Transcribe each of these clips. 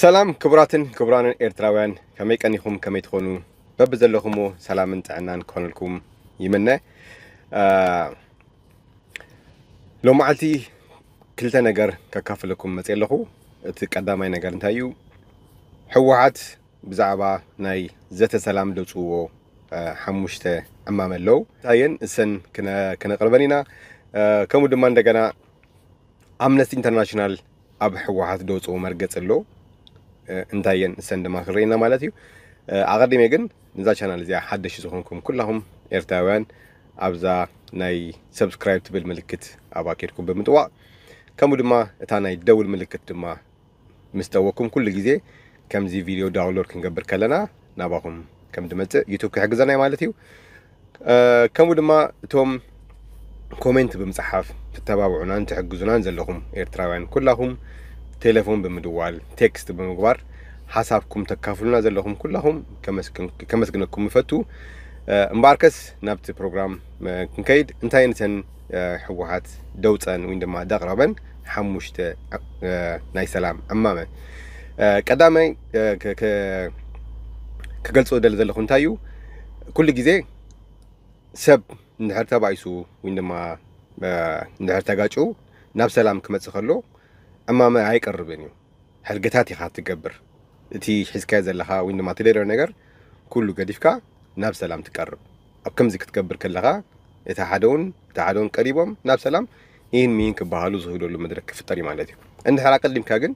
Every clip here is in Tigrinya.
ሰላም ክቡራትን ክቡራንን ኤርትራውያን፣ ከመይ ቀኒኹም፣ ከመይ ትኾኑ? በብዘለኹሞ ሰላምን ጥዕናን ክኾነልኩም ይምነ። ሎመዓልቲ ክልተ ነገር ከካፍለኩም መፅእ ኣለኹ። እቲ ቀዳማይ ነገር እንታይ እዩ? ህወሓት ብዛዕባ ናይ ዘተ ሰላም ደውፅዎ ሓሙሽተ ዕማመ ኣለዉ። እታየን እሰን ክነቅርበን ኢና። ከምኡ ድማ እንደገና ኣምነስቲ ኢንተርናሽናል ኣብ ህወሓት ደውፅዎ መርገፂ ኣሎ። እንታየን እሰን ድማ ክርኢና ማለት እዩ። ኣቐዲመ ግን ንዛ ቻናል እዚኣ ሓደሽ ዝኾንኩም ኩላኹም ኤርትራውያን ኣብዛ ናይ ሰብስክራይብ ትብል ምልክት ኣብ ኣኬድኩም ብምጥዋቕ፣ ከምኡ ድማ እታ ናይ ደውል ምልክት ድማ ምስ ጠወኩም ኩሉ ግዜ ከምዚ ቪድዮ ዳውንሎድ ክንገብር ከለና ናባኹም ከም ድመፅእ ዩቱብ ክሕግዘና እዩ ማለት እዩ። ከምኡ ድማ እቶም ኮሜንት ብምፅሓፍ ትተባብዑናን ትሕግዙናን ዘለኹም ኤርትራውያን ኩላኹም ቴሌፎን ብምድዋል፣ ቴክስት ብምግባር ሓሳብኩም ተካፍሉና ዘለኹም ኩላኹም ከመስግነኩም ይፈቱ። እምበኣርከስ ናብቲ ፕሮግራም ክንከይድ፣ እንታይ ንሰን ህወሓት ደውፀን ወይ ድማ ደቕረበን ሓሙሽተ ናይ ሰላም ዕማመ? ቀዳማይ ክገልፆ ደሊ ዘለኹ እንታይ እዩ? ኩሉ ግዜ ሰብ እንድሕር ተባኢሱ ወይ ድማ እንድሕር ተጋጩ ናብ ሰላም ክመፅእ ከሎ ዕማመ ኣይቀርብን እዩ። ሕርግታት ኢኻ ትገብር። እቲ ሒዝካዮ ዘለኻ ወይ ድማ ትደልዮ ነገር ኩሉ ገዲፍካ ናብ ሰላም ትቀርብ። ኣብ ከምዚ ክትገብር ከለኻ እቲ ሓደውን እቲ ሓደውን ቀሪቦም ናብ ሰላም ይህን ሚን ክበሃሉ ዝኽእለሉ መድረክ ክፍጠር እዩ ማለት እዩ። እንድሕር ኣቀዲምካ ግን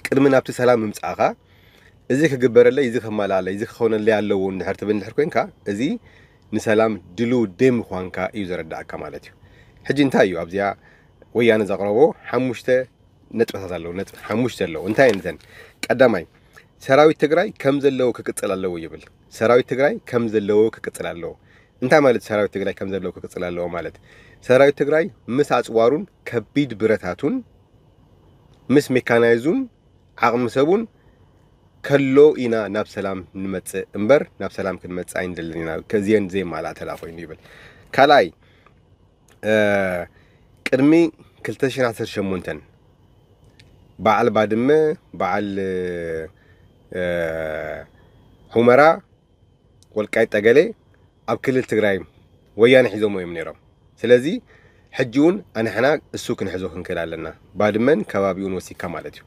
ቅድሚ ናብቲ ሰላም ምምፃእኻ እዚ ክግበረለይ፣ እዚ ከማልኣለይ፣ እዚ ክኾነለይ ኣለዎ እንድሕር ትብል እንድሕር ኮንካ፣ እዚ ንሰላም ድልው ደይ ምዃንካ እዩ ዘረዳእካ ማለት እዩ። ሕጂ እንታይ እዩ ኣብዚኣ ወያነ ዘቕረቦ ሓሙሽተ ነጥብታት ኣለዉ፣ ነጥቢ ሓሙሽተ ኣለዉ። እንታይ እየን እተን? ቀዳማይ፣ ሰራዊት ትግራይ ከም ዘለዎ ክቅፅል ኣለዎ ይብል። ሰራዊት ትግራይ ከም ዘለዎ ክቅፅል ኣለዎ። እንታይ ማለት ሰራዊት ትግራይ ከም ዘለዎ ክቅፅል ኣለዎ ማለት? ሰራዊት ትግራይ ምስ ኣፅዋሩን ከቢድ ብረታቱን ምስ ሜካናይዙን ዓቕሚ ሰቡን ከሎ ኢና ናብ ሰላም ንመፅእ እምበር ናብ ሰላም ክንመፅእ ኣይንደልን ኢና፣ ከዚአን ዘይማልኣ ተላ ኮይኑ ይብል። ካልኣይ፣ ቅድሚ ክልተ ሽሕን ዓሰርተ ሸሞንተን በዓል ባድመ፣ በዓል ሑመራ፣ ወልቃይት ጠገሌ ኣብ ክልል ትግራይ ወያነ ሒዞሞ እዮም ነይሮም። ስለዚ ሕጂ እውን ኣንሕና እሱ ክንሕዞ ክንክእል ኣለና፣ ባድመን ከባቢኡን ወሲካ ማለት እዩ።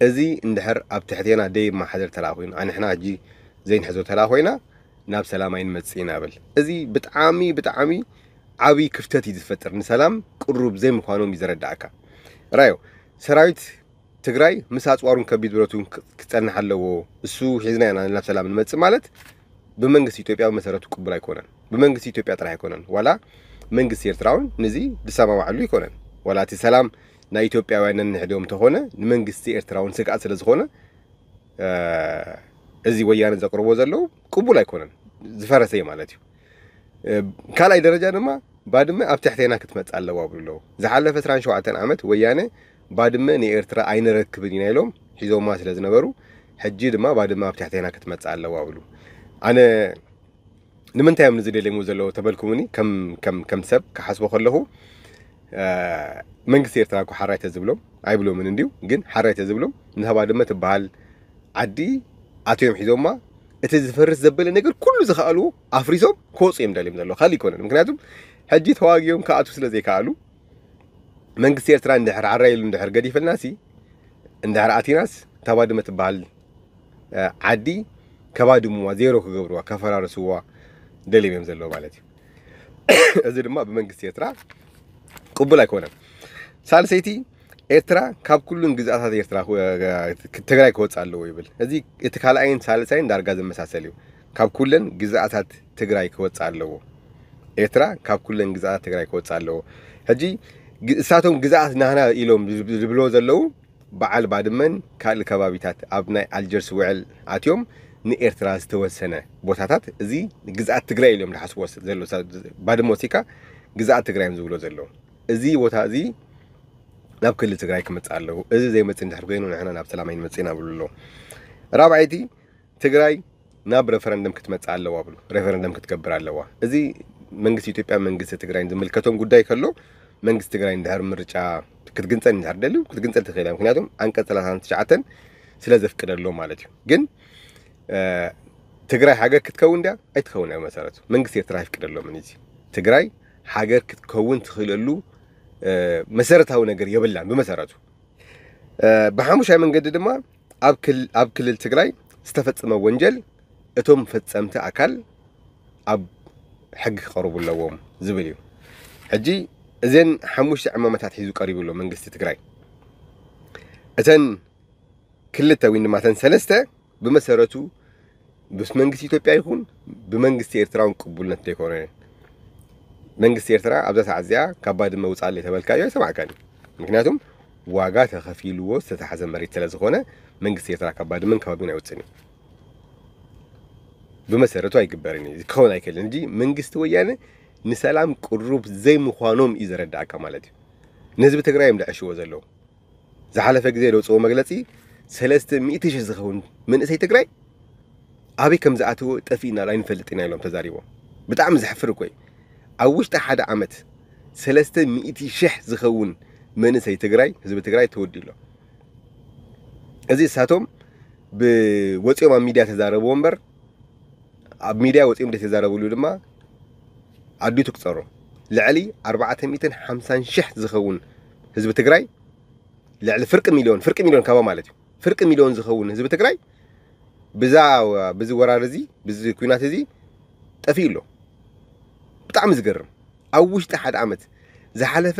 እዚ እንድሕር ኣብ ትሕቴና ደይ ማሓደር ተላ ኮይኑ ኣንሕና ሕጂ ዘይንሕዞ ተላ ኮይና ናብ ሰላም ኣይንመጽእ ኢና ብል። እዚ ብጣዕሚ ብጣዕሚ ዓብይ ክፍተት እዩ ዝፈጥር፣ ንሰላም ቅሩብ ዘይምዃኖም እዩ ዘረዳእካ። ራዮ ሰራዊት ትግራይ ምስ ኣፅዋሩን ከቢድ ብረቱን ክፀንሕ ኣለዎ። እሱ ሒዝና ኢና ናብ ሰላም ንመፅእ ማለት ብመንግስቲ ኢትዮጵያ ብመሰረቱ ቅቡል ኣይኮነን። ብመንግስቲ ኢትዮጵያ ጥራሕ ኣይኮነን፣ ዋላ መንግስቲ ኤርትራ እውን ንዚ ዝሰማማዓሉ ኣይኮነን። ዋላ እቲ ሰላም ናይ ኢትዮጵያውያን ነንሕድዮም እንተኾነ ንመንግስቲ ኤርትራ እውን ስግኣት ስለ ዝኾነ እዚ ወያነ ዘቅርቦ ዘለዉ ቅቡል ኣይኮነን፣ ዝፈረሰ እዩ ማለት እዩ። ካልኣይ ደረጃ ድማ ባድመ ኣብ ትሕቴና ክትመጽእ ኣለዋ ብሉ ኣለዉ። ዝሓለፈ ዕስራን ሸውዓተን ዓመት ወያነ ባድመ ንኤርትራ ኣይንረክብን ኢና ኢሎም ሒዞማ ስለ ዝነበሩ ሕጂ ድማ ባድመ ኣብ ትሕቴና ክትመጽእ ኣለዋ ብሉ። ኣነ ንምንታይ እዮም ንዚ ደልየምዎ ዘለዉ ተበልኩምኒ፣ ከም ሰብ ክሓስቦ ከለኹ መንግስቲ ኤርትራ እኮ ሓራይ ተዝብሎም ኣይብሎምን እንድዩ፣ ግን ሓራይ ተዝብሎም ንታ ባድመ ትበሃል ዓዲ ኣትዮም ሒዞማ እቲ ዝፈርስ ዘበለ ነገር ኩሉ ዝኸኣልዎ ኣፍሪሶም ክወፁ እዮም ደልዮም ዘለዉ፣ ካልእ ኣይኮነን። ምክንያቱ ሕጂ ተዋጊኦም ክኣትዉ ስለ ዘይከኣሉ መንግስቲ ኤርትራ እንድሕር ዓራይ ኢሉ እንድሕር ገዲፈልናሲ እንድሕር ኣቲናስ እታ ባድመ ትበሃል ዓዲ ከባድምዋ፣ ዜሮ ክገብርዋ፣ ከፈራርስዋ ደልዮም እዮም ዘለዉ ማለት እዩ። እዚ ድማ ብመንግስቲ ኤርትራ ቅቡል ኣይኮነን። ሳልሰይቲ ኤርትራ ካብ ኩሉን ግዝኣታት ኤርትራ ትግራይ ክወፅእ ኣለዎ ይብል። እዚ እቲ ካልኣይን ሳልሳይን ዳርጋ ዝመሳሰል እዩ። ካብ ኩለን ግዝኣታት ትግራይ ክወፅእ ኣለዎ። ኤርትራ ካብ ኩለን ግዝኣታት ትግራይ ክወፅእ ኣለዎ። ሕጂ እሳቶም ግዝኣት ናህና ኢሎም ዝብልዎ ዘለዉ በዓል ባድመን ካልእ ከባቢታት ኣብ ናይ ኣልጀርስ ውዕል ኣትዮም ንኤርትራ ዝተወሰነ ቦታታት እዚ ግዝኣት ትግራይ ኢሎም ዝሓስብዎ ባድመ ወሲካ ግዝኣት ትግራይ እዮም ዝብሎ ዘለዉ። እዚ ቦታ እዚ ናብ ክልል ትግራይ ክመፅእ ኣለዎ። እዚ ዘይመፅእ እንድሕር ኮይኑ ንሕና ናብ ሰላም ኣይንመፅእ ኢና ብሉ ኣለዉ። ራብዓይቲ ትግራይ ናብ ሬፈረንደም ክትመፅእ ኣለዋ ብሉ። ሬፈረንደም ክትገብር ኣለዋ። እዚ መንግስቲ ኢትዮጵያ መንግስቲ ትግራይን ዝምልከቶም ጉዳይ ከሎ መንግስቲ ትግራይ እንድሕር ምርጫ ክትግንፀል እንድሕር ደልዩ ክትግንፀል ትኽእል እያ። ምክንያቱም ዓንቀፅ ሰላሳን ትሽዓተን ስለ ዘፍቅደሎም ማለት እዩ። ግን ትግራይ ሃገር ክትከውን ድያ ኣይትኸውን እያ ብመሰረቱ። መንግስቲ ኤርትራ ኣይፍቅደሎምን። እዚ ትግራይ ሃገር ክትከውን ትኽእለሉ መሰረታዊ ነገር የብላን ብመሰረቱ። ብሓሙሻይ መንገዲ ድማ ኣብ ክልል ትግራይ ዝተፈፀመ ወንጀል እቶም ፈፀምቲ ኣካል ኣብ ሕጊ ክቐርቡ ኣለዎም ዝብል እዩ። ሕጂ እዘን ሓሙሽተ ዕማመታት ሒዙ ቀሪቡ ኣሎ መንግስቲ ትግራይ። እተን ክልተ ወይ ድማ እተን ሰለስተ ብመሰረቱ ምስ መንግስቲ ኢትዮጵያ ይኹን ብመንግስቲ ኤርትራ እውን ቅቡልነት ዘይኮነ። መንግስቲ ኤርትራ ኣብዛ ሰዓት እዚኣ ካብ ባድመ ውፃለይ ተበልካዮ ኣይሰማዕካን እዩ። ምክንያቱም ዋጋ ተኸፊልዎ ዝተታሓዘ መሬት ስለ ዝኾነ መንግስቲ ኤርትራ ካብ ባድመን ከባቢን ኣይወፅን እዩ። ብመሰረቱ ኣይግበርን እዩ፣ ክኸውን ኣይክእልን። እንጂ መንግስቲ ወያነ ንሰላም ቅሩብ ዘይምዃኖም እዩ ዘረዳእካ ማለት እዩ። ንህዝቢ ትግራይ እዮም ደዕሽዎ ዘለዉ። ዝሓለፈ ግዜ ደውፅዎ መግለፂ ሰለስተ ሚእቲ ሽሕ ዝኸውን መንእሰይ ትግራይ ኣበይ ከም ዝኣተወ ጠፊእና ኣይንፈልጥ ኢና ኢሎም ተዛሪቦም። ብጣዕሚ ዘሕፍር እኮ እዩ። ኣብ ውሽጢ ሓደ ዓመት ሰለስተ ሚእቲ ሽሕ ዝኸውን መንእሰይ ትግራይ፣ ህዝቢ ትግራይ ተወዲኡ ኣሎ። እዚ እሳቶም ብወፂኦም ኣብ ሚድያ ተዛረብዎ እምበር ኣብ ሚድያ ወፂኦም ዘይተዛረብሉ ድማ ኣዲኡ ትቁፀሮ። ልዕሊ ኣርባዕተ ሚእትን ሓምሳን ሽሕ ዝኸውን ህዝቢ ትግራይ፣ ልዕሊ ፍርቂ ሚልዮን፣ ፍርቂ ሚልዮን ካባ ማለት እዩ፣ ፍርቂ ሚልዮን ዝኸውን ህዝቢ ትግራይ ብዛ ብዚ ወራር እዚ ብዚ ኩናት እዚ ጠፊኡ ኣሎ። ብጣዕሚ ዝገርም። ኣብ ውሽጢ ሓደ ዓመት ዝሓለፈ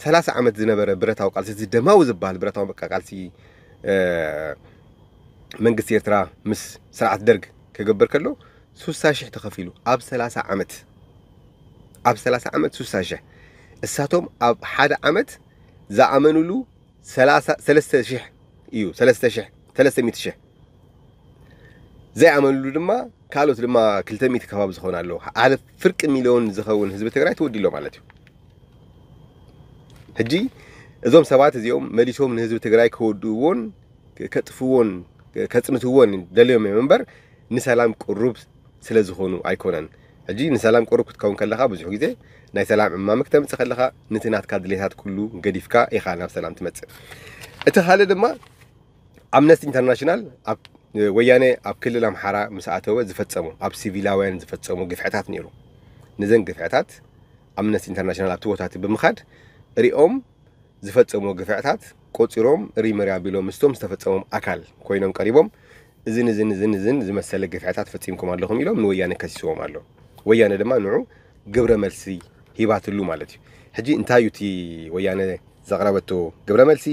ሰላሳ ዓመት ዝነበረ ብረታዊ ቃልሲ፣ እዚ ደማዊ ዝበሃል ብረታዊ በቃ ቃልሲ መንግስቲ ኤርትራ ምስ ስርዓት ደርግ ክገብር ከሎ ሱሳ ሽሕ ተኸፊሉ ኣብ ሰላሳ ዓመት፣ ኣብ ሰላሳ ዓመት ሱሳ ሽሕ። እሳቶም ኣብ ሓደ ዓመት ዝኣመኑሉ ሰለስተ ሽሕ እዩ፣ ሰለስተ ሽሕ፣ ሰለስተ ሚእቲ ሽሕ። ዘይኣመኑሉ ድማ ካልኦት ድማ ክልተ ሚእቲ ከባቢ ዝኾኑ ኣለዉ። ሓደ ፍርቂ ሚልዮን ዝኸውን ህዝቢ ትግራይ ተወዲሎ ማለት እዩ። ሕጂ እዞም ሰባት እዚኦም መሊሶም ንህዝቢ ትግራይ ከወድእዎን ከጥፍዎን ከፅንትዎን ደልዮም እዮም እምበር ንሰላም ቅሩብ ስለ ዝኾኑ ኣይኮነን። ሕጂ ንሰላም ቅሩብ ክትከውን ከለኻ ብዙሕ ግዜ ናይ ሰላም ዕማመ ክተምፅእ ከለኻ ነቲ ናትካ ድሌታት ኩሉ ገዲፍካ ኢኻ ናብ ሰላም ትመፅእ። እቲ ካልእ ድማ ኣምነስቲ ኢንተርናሽናል ኣብ ወያነ ኣብ ክልል ኣምሓራ ምስ ኣተወ ዝፈፀሙ ኣብ ሲቪላውያን ዝፈፀሙ ግፍዕታት ነይሩ። ነዘን ግፍዕታት ኣምነስቲ ኢንተርናሽናል ኣብቲ ቦታ እቲ ብምኻድ ሪኦም ዝፈፀምዎ ግፍዕታት ቆፂሮም ሪመሪ ኣቢሎም ምስቶም ዝተፈፀሞም ኣካል ኮይኖም ቀሪቦም እዝን እዝን እዝን እዝን ዝመሰለ ግፍዕታት ፈፂምኩም ኣለኹም ኢሎም ንወያነ ከሲስዎም ኣሎ። ወያነ ድማ ንዑ ግብረ መልሲ ሂባትሉ ማለት እዩ። ሕጂ እንታይ እዩ እቲ ወያነ ዘቕረበቶ ግብረ መልሲ?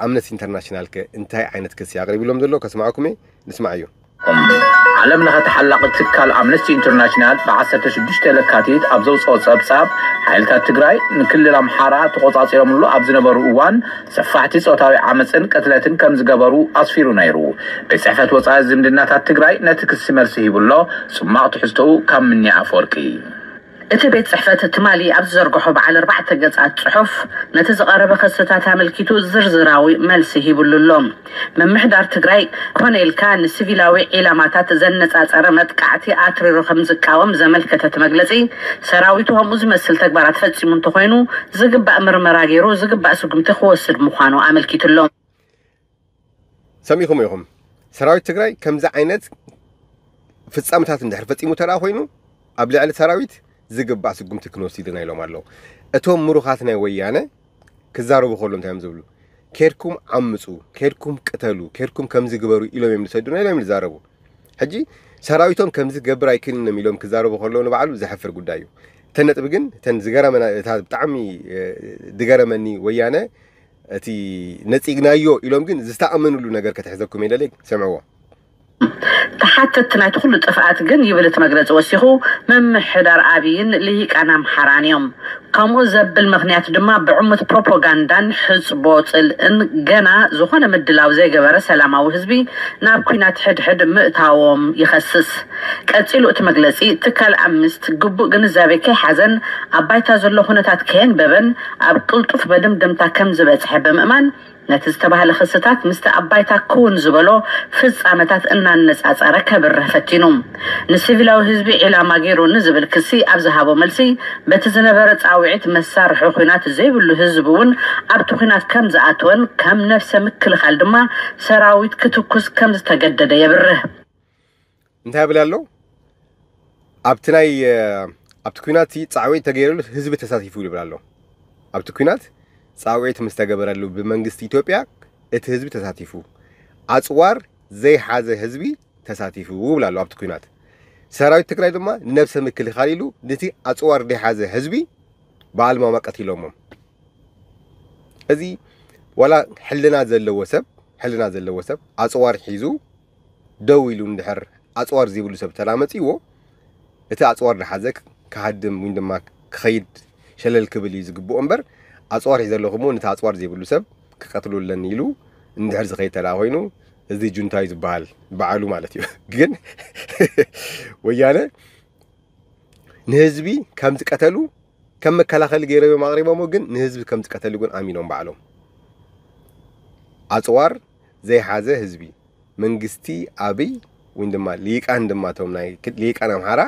ኣምነስቲ ኢንተርናሽናል ከ እንታይ ዓይነት ክሲ ኣቕሪብሎም ዘሎ ከስማዕኩም እየ፣ ንስማዓዮ። ዓለም ለኸ ተሓላቒ ትካል ኣምነስቲ ኢንተርናሽናል ብ ዓሰርተ ሽዱሽተ ለካቲት ኣብ ዘውፅኦ ፀብፃብ፣ ሓይልታት ትግራይ ንክልል ኣምሓራ ተቆፃፂሮምሉ ኣብ ዝነበሩ እዋን ሰፋሕቲ ፆታዊ ዓመፅን ቅትለትን ከም ዝገበሩ ኣስፊሩ ነይሩ። ቤት ፅሕፈት ወፃኢ ዝምድናታት ትግራይ ነቲ ክሲ መልሲ ሂቡ ኣሎ። ፅማቕ ትሕዝቶኡ ካብ ምኒ ኣፈወርቂ። እቲ ቤት ፅሕፈት ትማሊ ኣብ ዝዘርግሖ በዓል ኣርባዕተ ገፃት ፅሑፍ፣ ነቲ ዝቐረበ ክስታት ኣመልኪቱ ዝርዝራዊ መልሲ ሂብሉ ኣሎ። ምምሕዳር ትግራይ ኮነ ኢልካ ንሲቪላዊ ዒላማታት ዘነፃፀረ መጥቃዕቲ ኣትሪሩ ከም ዝቃወም ዘመልከተ እቲ መግለፂ፣ ሰራዊቱ ከምኡ ዝመስል ተግባራት ፈፂሙ እንተኾይኑ ዝግባእ ምርመራ ገይሩ ዝግባእ ስጉምቲ ክወስድ ምዃኑ ኣመልኪቱ ኣሎ። ሰሚዕኹም ኢኹም። ሰራዊት ትግራይ ከምዚ ዓይነት ፍጻመታት እንድሕር ፈጺሙ ተደኣ ኮይኑ ኣብ ልዕሊ ሰራዊት ዝግባእ ስጉምቲ ክንወስድ ኢና ኢሎም ኣለዉ። እቶም ምሩኻት ናይ ወያነ ክዛረቡ ከሎ እንታይ እዮም ዝብሉ? ኬድኩም ዓምፁ፣ ኬድኩም ቅተሉ፣ ኬድኩም ከምዚ ግበሩ ኢሎም እዮም ዝሰዱና ኢሎም እዮም ዝዛረቡ። ሕጂ ሰራዊቶም ከምዚ ክገብር ኣይክእልን እዮም ኢሎም ክዛረቡ ከለዉ ንባዕሉ ዘሕፍር ጉዳይ እዩ። እተን ነጥቢ ግን እተን ዝገረመና እታ ብጣዕሚ ዝገረመኒ ወያነ እቲ ነፂግናዮ ኢሎም ግን ዝተኣመንሉ ነገር ከተሕዘኩም የደለይ ስምዕዎ። ተሓተትቲ ናይቲ ኩሉ ጥፍኣት ግን ይብል እቲ መግለፂ ወሲኹ፣ ምምሕዳር ኣብይን ልሂቃን ኣምሓራን እዮም። ከምኡ ዘብል ምኽንያት ድማ ብዕሙት ፕሮፓጋንዳን ሕፅቦ ፅልእን ገና ዝኾነ ምድላው ዘይገበረ ሰላማዊ ህዝቢ ናብ ኲናት ሕድሕድ ምእታዎም ይኸስስ። ቀፂሉ እቲ መግለፂ፣ ትካል ኣምነስት ግቡእ ግንዛቤ ከይሓዘን ኣብ ባይታ ዘሎ ኩነታት ከየንበበን ኣብ ቅልጡፍ መደምደምታ ከም ዝበፅሐ ብምእማን፣ ነቲ ዝተባህለ ክስታት ምስቲ ኣብ ባይታ ክውን ዝበሎ ፍጻመታት እናነጻጸረ ከብርህ ፈቲኑ። ንሲቪላዊ ህዝቢ ዒላማ ገይሩ ንዝብል ክሲ ኣብ ዝሃቦ መልሲ፣ በቲ ዝነበረ ጻውዒት መሳርሒ ኲናት ዘይብሉ ህዝቢ እውን ኣብቲ ኲናት ከም ዝኣተወን ከም ነፍሰ ምክልኻል ድማ ሰራዊት ክትኩስ ከም ዝተገደደ የብርህ። እንታይ ይብል ኣሎ? ኣብቲ ናይ ኣብቲ ኲናት ፃዕወት ተገይረሉ ህዝቢ ተሳቲፉ ይብል ኣሎ። ኣብቲ ኲናት ፃዕወት ምስ ተገበረሉ ብመንግስቲ ኢትዮጵያ እቲ ህዝቢ ተሳቲፉ፣ ኣፅዋር ዘይሓዘ ህዝቢ ተሳቲፉ ይብል ኣሎ። ኣብቲ ኲናት ሰራዊት ትግራይ ድማ ንነብሰ ምክልኻል ኢሉ ነቲ ኣፅዋር ዘይሓዘ ህዝቢ ብኣልማማ ቀቲሎሞም። እዚ ዋላ ሕልና ዘለዎ ሰብ ሕልና ዘለዎ ሰብ ኣፅዋር ሒዙ ደው ኢሉ እንድሕር ኣፅዋር ዘይብሉ ሰብ ተላመፂዎ እቲ ኣፅዋር ዝሓዘ ክሃድም ወይ ድማ ክኸይድ ሸለል ክብል እዩ ዝግብኦ እምበር ኣፅዋር ሒዘ ኣለኹ እሞ ነቲ ኣፅዋር ዘይብሉ ሰብ ክቀትሉ ኣለኒ ኢሉ እንድሕር ዝኸይድ ተላ ኮይኑ እዚ ጁንታ እዩ ዝበሃል በዓሉ ማለት እዩ። ግን ወያነ ንህዝቢ ከም ዝቀተሉ ከም መከላኸሊ ገይሮም እዮም ኣቕሪቦሞ፣ ግን ንህዝቢ ከም ዝቀተሉ ግን ኣሚኖም ባዕሎም። ኣፅዋር ዘይሓዘ ህዝቢ መንግስቲ ኣብይ ወይ ድማ ሊቃን ድማ እቶም ናይ ክ- ሊቃን ኣምሓራ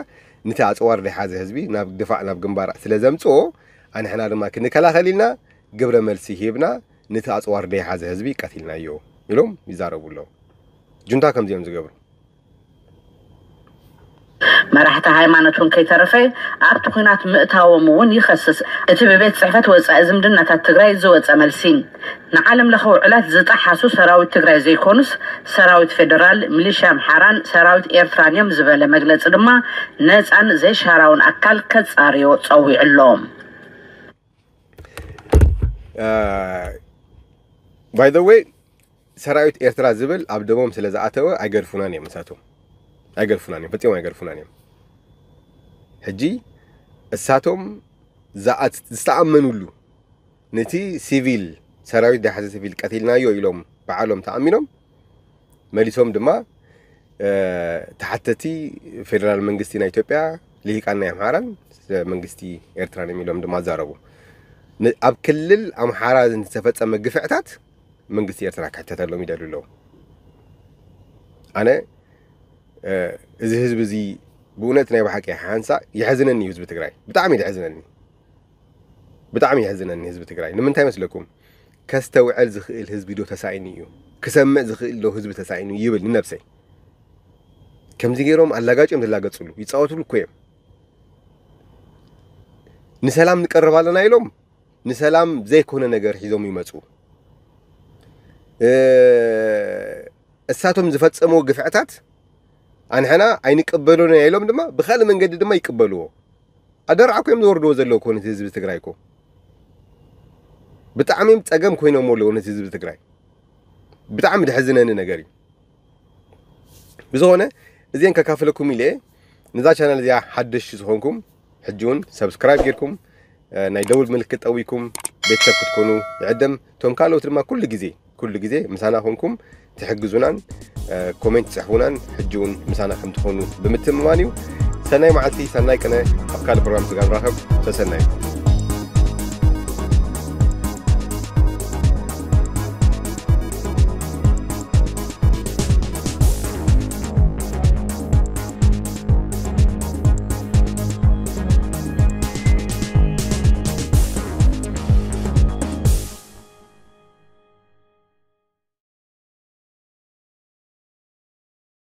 ነቲ ኣፅዋር ዘይሓዘ ህዝቢ ናብ ድፋዕ ናብ ግንባር ስለ ዘምፅኦ ኣንሕና ድማ ክንከላኸል ኢልና ግብረ መልሲ ሂብና ነቲ ኣፅዋር ዘይሓዘ ህዝቢ ቀቲልናዮ ኢሎም ይዛረቡ ኣለዉ። ጁንታ ከምዚኦም ዝገብሩ መራሕቲ ሃይማኖት እውን ከይተረፈ ኣብቲ ኲናት ምእታዎም እውን ይኸስስ። እቲ ብቤት ፅሕፈት ወፃኢ ዝምድናታት ትግራይ ዝወፀ መልሲ ንዓለም ለኸ ውዕላት ዝጠሓሱ ሰራዊት ትግራይ ዘይኮኑስ ሰራዊት ፌደራል፣ ሚሊሻ ኣምሓራን ሰራዊት ኤርትራን እዮም ዝበለ መግለፂ ድማ ነፃን ዘይሻራውን ኣካል ከፃርዮ ፀዊዑ ኣሎ። by the way ሰራዊት ኤርትራ ዝብል ኣብ ደሞም ስለ ዝኣተወ ኣይገድፉናን እዮም። እሳቶም ኣይገድፉናን እዮም፣ ፈፂሞም ኣይገድፉናን እዮም። ሕጂ እሳቶም ዝኣት- ዝተኣመኑሉ ነቲ ሲቪል ሰራዊት ዳሕዚ ሲቪል ቀቲልናዮ ኢሎም በዓሎም ተኣሚኖም መሊሶም ድማ ተሓተቲ ፌደራል መንግስቲ ናይ ኢትዮጵያ ልሂቃን ናይ ኣምሓራን መንግስቲ ኤርትራን እዮም ኢሎም ድማ ኣዛረቡ። ኣብ ክልል ኣምሓራ ዝተፈፀመ ግፍዕታት መንግስቲ ኤርትራ ክሕተተሎም ይደልዩ ኣለዉ። ኣነ እዚ ህዝቢ እዚ ብእውነት ናይ ብሓቂ ሓንሳ የሕዝነኒ እዩ። ህዝቢ ትግራይ ብጣዕሚ የሕዝነኒ፣ ብጣዕሚ የሕዝነኒ ህዝቢ ትግራይ። ንምንታይ መስለኩም? ከስተውዕል ዝኽእል ህዝቢ ዶ ተሳኢኑ እዩ? ክሰምዕ ዝኽእል ዶ ህዝቢ ተሳኢኑ ይብል ንነብሰይ። ከምዚ ገይሮም ኣላጋጭ እዮም ዝላገፅሉ፣ ይፃወትሉ እኮ እዮም። ንሰላም ንቀርብ ኣለና ኢሎም ንሰላም ዘይኮነ ነገር ሒዞም ይመፁ። እሳቶም ዝፈፀምዎ ግፍዕታት ኣንሕና ኣይንቀበሎን ኢና ኢሎም ድማ ብካልእ መንገዲ ድማ ይቀበልዎ። ኣደራዕ እኮ እዮም ዘወርድዎ ዘለዉ እኮ ነቲ ህዝቢ ትግራይ እኮ። ብጣዕሚ እዮም ፀገም ኮይኖም ኣለዉ ነቲ ህዝቢ ትግራይ። ብጣዕሚ ድሕዝነኒ ነገር እዩ። ብዝኾነ እዚአን ከካፍለኩም ኢለ እየ። ነዛ ቻናል እዚኣ ሓደሽቲ ዝኾንኩም ሕጂ እውን ሰብስክራይብ ጌርኩም ናይ ደውል ምልክት ጠዊኩም ቤተሰብ ክትኮኑ ይዕደም። እቶም ካልኦት ድማ ኩሉ ግዜ ኩሉ ግዜ ምሳና ኮንኩም ትሕግዙናን ኮሜንት ትፅሕፉናን ሕጂ እውን ምሳና ከም ትኾኑ ብምትምማን እዩ። ሰናይ መዓልቲ፣ ሰናይ ቅነ። ኣብ ካልእ ፕሮግራም ስጋ ንራኸብ። ሰሰናዩ።